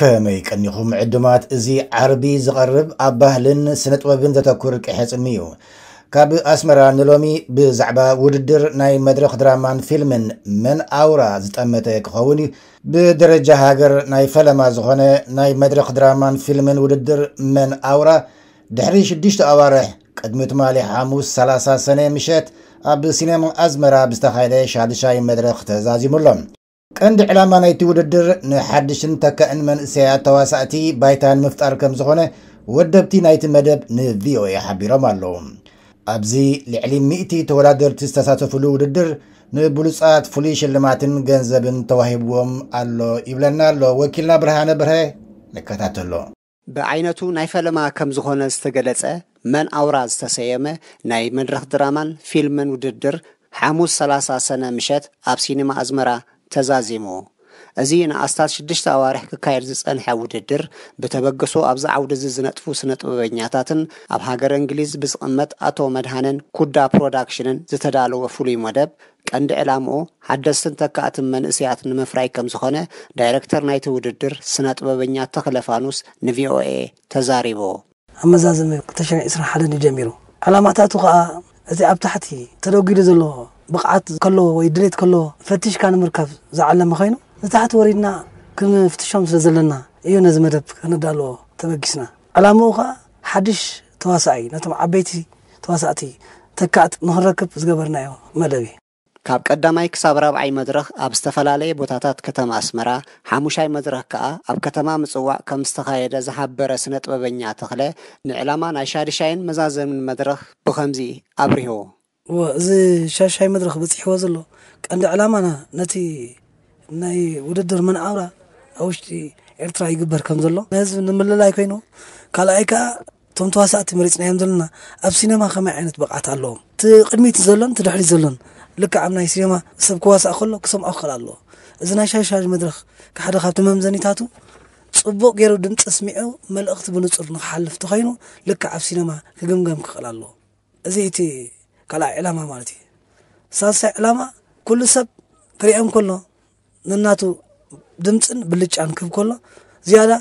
ከመይ ቀኒኹም ዕዱማት? እዚ ዓርቢ ዝቐርብ ኣብ ባህልን ስነ ጥበብን ዘተኩር ቅሐጽሚ እዩ። ካብ ኣስመራ ንሎሚ ብዛዕባ ውድድር ናይ መድረኽ ድራማን ፊልምን መን ኣውራ ዝጠመተ ክኸውን እዩ። ብደረጃ ሃገር ናይ ፈለማ ዝኾነ ናይ መድረኽ ድራማን ፊልምን ውድድር መን ኣውራ ድሕሪ ሽዱሽተ ኣዋርሕ ቅድሚ ትማሊ ሓሙስ ሰላሳ ሰነ ምሸት ኣብ ሲኔማ ኣዝመራ ብዝተኻየደ ሻድሻይ መድረኽ ተዛዚሙ ኣሎ። ቀንዲ ዕላማ ናይቲ ውድድር ንሓድሽን ተካእን መንእሰያት ተዋሳእቲ ባይታ ንምፍጣር ከም ዝኾነ ወደብቲ ናይቲ መደብ ንቪኦኤ ሓቢሮም ኣለዉ። ኣብዚ ልዕሊ ሚእቲ ተወዳደርቲ ዝተሳተፉሉ ውድድር ንብሉጻት ፍሉይ ሽልማትን ገንዘብን ተዋሂብዎም ኣሎ ይብለና ኣሎ ወኪልና ብርሃነ ብርሀ። ንከታተሎ። ብዓይነቱ ናይ ፈለማ ከም ዝኾነ ዝተገለጸ መን ኣውራ ዝተሰየመ ናይ መድረኽ ድራማን ፊልምን ውድድር ሓሙስ ሰላሳ ሰነ ምሸት ኣብ ሲኒማ ኣዝመራ ተዛዚሙ። እዚ ንኣስታት ሽዱሽተ ኣዋርሕ ክካየድ ዝጸንሐ ውድድር ብተበግሶ ኣብዚ ዓውዲ እዚ ዝነጥፉ ስነ ጥበበኛታትን ኣብ ሃገር እንግሊዝ ብዝቕመጥ ኣቶ መድሃንን ኩዳ ፕሮዳክሽንን ዝተዳለወ ፍሉይ መደብ ቀንዲ ዕላምኡ ሓደስትን ተካእትን መንእሰያት ንምፍራይ ከም ዝኾነ ዳይረክተር ናይቲ ውድድር ስነ ጥበበኛ ተኽለ ፋኑስ ንቪኦኤ ተዛሪቡ። ኣመዛዝሚ ክልተ ሽሕን ዕስራን ሓደን እዩ ጀሚሩ። ዕላማታቱ ከኣ እቲ ኣብ ታሕቲ ተደጒሉ ዘሎ ብቕዓት ከለዎ ወይ ድሌት ከለዎ ፈቲሽካ ንምርካብ ዝዓለመ ኮይኑ ንታሕቲ ወሪድና ክንፍትሾም ስለ ዘለና እዩ ነዚ መደብ ከነዳልዎ ተበጊስና። ዕላምኡ ከኣ ሓድሽ ተዋሳኣይ ነቶም ዓበይቲ ተዋሳእቲ ተካእት ንኽንረክብ ዝገበርናዮ መደብ እዩ። ካብ ቀዳማይ ክሳብ ራብዓይ መድረኽ ኣብ ዝተፈላለየ ቦታታት ከተማ ኣስመራ፣ ሓሙሻይ መድረኽ ከኣ ኣብ ከተማ ምጽዋዕ ከም ዝተኻየደ ዝሓበረ ስነ ጥበበኛ ተኽለ፣ ንዕላማ ናይ ሻድሻይን መዛዘምን መድረኽ ብኸምዚ ኣብሪሁ። እወ፣ እዚ ሻሻይ መድረኽ በጺሕዎ ዘሎ ቀንዲ ዕላማና ነቲ ናይ ውድድር መን ኣውራ ኣብ ውሽጢ ኤርትራ ይግበር ከም ዘሎ ንህዝቢ ንምልላይ ኮይኑ፣ ካልኣይ ከኣ እቶም ተዋሳእቲ መሪጽናዮም ዘለና ኣብ ሲነማ ከመይ ዓይነት ብቕዓት ኣለዎም፣ እቲ ቅድሚት ዘሎን እቲ ድሕሪት ዘሎን ልክዕ ኣብ ናይ ሲነማ ሰብ ክዋሳእ ከሎ ክሰምዖ ክኽእል ኣለዎ። እዚ ናይ ሻሻይ መድረኽ ሓደ ካብቲ መምዘኒታቱ ጽቡቕ ገይሩ ድምጺ ስሚዑ መልእኽቲ ብንጹር ንኽሓልፍ ተኾይኑ ልክዕ ኣብ ሲነማ ክግምገም ክኽእል ኣለዎ። እዚ እቲ ካልኣይ ዕላማ ማለት እዩ። ሳልሳይ ዕላማ ኩሉ ሰብ ክሪኦም ከሎ ነናቱ ድምጽን ብልጫን ክህብ ከሎ ዝያዳ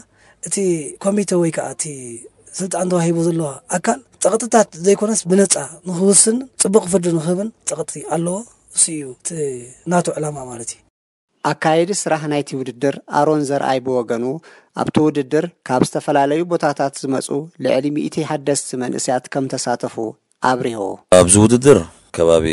እቲ ኮሚተ ወይ ከዓ እቲ ስልጣን ተዋሂቡ ዘሎ ኣካል ጸቕጥታት ዘይኮነስ ብነጻ ንኽውስን ጽቡቕ ፍርዲ ንኽህብን ጸቕጢ ኣለዎ። እሱ እዩ እቲ ናቱ ዕላማ ማለት እዩ። ኣካየዲ ስራሕ ናይቲ ውድድር ኣሮን ዘርኣይ ብወገኑ ኣብቲ ውድድር ካብ ዝተፈላለዩ ቦታታት ዝመጹ ልዕሊ ሚእቲ ሓደስቲ መንእሰያት ከም ተሳተፉ ኣብሪሁ። ኣብዚ ውድድር ከባቢ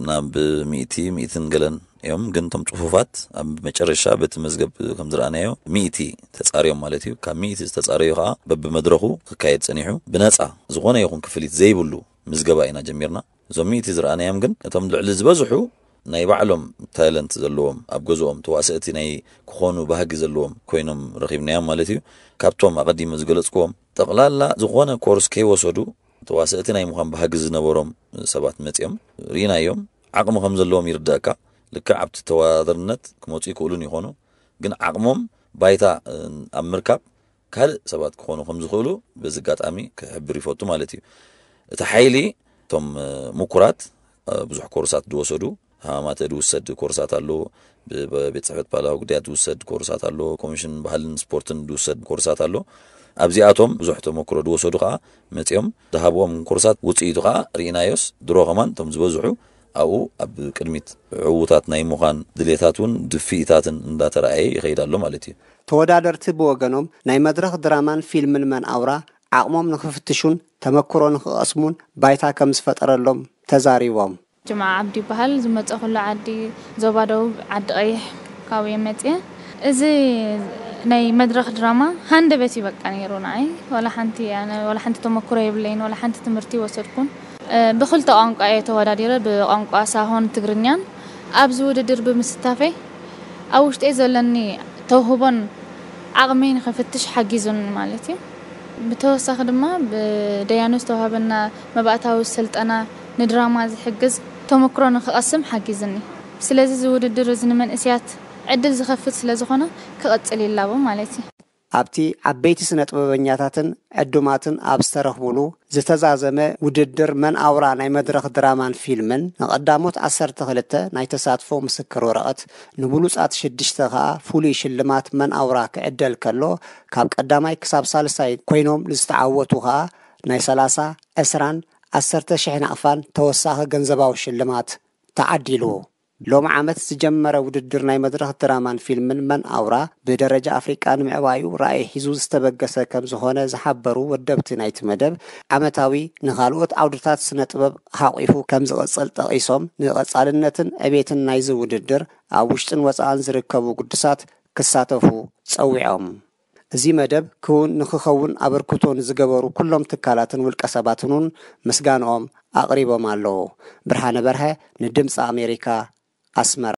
ናብ ሚእቲ፣ ሚእትን ገለን እዮም፣ ግን እቶም ጽፉፋት ኣብ መጨረሻ በቲ መዝገብ ከም ዝረኣናዮ ሚእቲ ተጻርዮም ማለት እዩ። ካብ ሚእቲ ዝተጻረዩ ከኣ በብመድረኹ ክካየድ ጸኒሑ ብነጻ ዝኾነ ይኹን ክፍሊት ዘይብሉ ምዝገባ ኢና ጀሚርና። እዞም ሚእቲ ዝረኣናዮም ግን እቶም ልዕሊ ዝበዝሑ ናይ ባዕሎም ታለንት ዘለዎም ኣብ ገዝኦም ተዋሰእቲ ናይ ክኾኑ ባህጊ ዘለዎም ኮይኖም ረኺብናዮም ማለት እዩ። ካብቶም ኣቐዲመ ዝገለጽክዎም ጠቕላላ ዝኾነ ኮርስ ከይወሰዱ ተዋሰእቲ ናይ ምዃን ባህጊ ዝነበሮም ሰባት መጺኦም ርኢናዮም። ዓቕሚ ከም ዘለዎም ይርዳእካ። ልክዕ ኣብቲ ተወዳደርነት ክመጹ ይኽእሉን ይኾኑ፣ ግን ዓቕሞም ባይታ ኣብ ምርካብ ካልእ ሰባት ክኾኑ ከም ዝኽእሉ በዚ ኣጋጣሚ ክሕብር ይፈቱ ማለት እዩ። እቲ ሓይሊ እቶም ምኩራት ብዙሕ ኮርሳት ዝወሰዱ ሃማማተ ዝውሰድ ኮርሳት ኣሎ፣ ብቤት ጽሕፈት ባህላዊ ጉዳያት ዝውሰድ ኮርሳት ኣሎ፣ ኮሚሽን ባህልን ስፖርትን ዝውሰድ ኮርሳት ኣሎ። ኣብዚኣቶም ብዙሕ ተመክሮ ዝወሰዱ ከኣ መጺኦም ዝሃብዎም ኮርሳት ውጽኢቱ ከኣ ርኢናዮስ ድሮ ከማን እቶም ዝበዝሑ ኣብኡ ኣብ ቅድሚት ዕዉታት ናይ ምዃን ድሌታት እውን ድፍኢታትን እንዳተረኣየ ይኸይድ ኣሎ ማለት እዩ። ተወዳደርቲ ብወገኖም ናይ መድረኽ ድራማን ፊልምን መን ኣውራ ዓቕሞም ንኽፍትሹን ተመክሮ ንኽቐስሙን ባይታ ከም ዝፈጠረሎም ተዛሪቦም። ጅምዓ ዓብዲ ይበሃል። ዝመፀኹሉ ዓዲ ዞባ ደቡብ ዓዲ ቀይሕ ካብኡ እየ መፅየ። እዚ ናይ መድረኽ ድራማ ሃንደበት እዩ በቃ ነይሩ ንዓይ። ዋላ ሓንቲ ኣነ ዋላ ሓንቲ ተመክሮ የብለይን፣ ዋላ ሓንቲ ትምህርቲ ይወሰድኩን። እ፣ ብኽልተ ቋንቋ እየ ተወዳዲረ፣ ብቋንቋ ሳሆን ትግርኛን። ኣብዚ ውድድር ብምስታፈይ ኣብ ውሽጠይ ዘለኒ ተውህቦን ዓቕመይ ንኽፍትሽ ሓጊዙኒ ማለት እዩ። ብተወሳኺ ድማ ብደያኑ ዝተዋህበና መባእታዊ ስልጠና ንድራማ ዝሕግዝ ተመክሮ ንኽቐስም ሓጊዝኒ። ስለዚ እዚ ውድድር እዚ ንመንእሰያት ዕድል ዝኸፍት ስለ ዝኾነ ክቕጽል ይላቦ ማለት እዩ። ኣብቲ ዓበይቲ ስነ ጥበበኛታትን ዕዱማትን ኣብ ዝተረኽቡሉ ዝተዛዘመ ውድድር መን ኣውራ ናይ መድረኽ ድራማን ፊልምን ንቐዳሞት ዓሰርተ ክልተ ናይ ተሳትፎ ምስክር ወረቐት፣ ንብሉጻት ሽዱሽተ ከኣ ፍሉይ ሽልማት መን ኣውራ ክዕደል ከሎ፣ ካብ ቀዳማይ ክሳብ ሳልሳይ ኮይኖም ዝተዓወቱ ከኣ ናይ ሰላሳ፣ ዕስራን ዓሰርተ ሽሕ ናቕፋን ተወሳኺ ገንዘባዊ ሽልማት ተዓዲሉ። ሎም ዓመት ዝጀመረ ውድድር ናይ መድረኽ ድራማን ፊልምን መን ኣውራ ብደረጃ ኣፍሪቃ ንምዕባዩ ራእይ ሒዙ ዝተበገሰ ከም ዝኾነ ዝሓበሩ ወደብቲ ናይቲ መደብ፣ ዓመታዊ ንኻልኦት ዓውድታት ስነ ጥበብ ሓቂፉ ከም ዝቕጽል ጠቒሶም፣ ንቐጻልነትን ዕቤትን ናይዚ ውድድር ኣብ ውሽጥን ወጻእን ዝርከቡ ግዱሳት ክሳተፉ ጸዊዖም። እዚ መደብ ክውን ንክኸውን ኣበርክቶ ንዝገበሩ ኩሎም ትካላትን ውልቀ ሰባትን እውን ምስጋንኦም ኣቕሪቦም ኣለዉ። ብርሃነ በርሀ ንድምፂ ኣሜሪካ፣ ኣስመራ።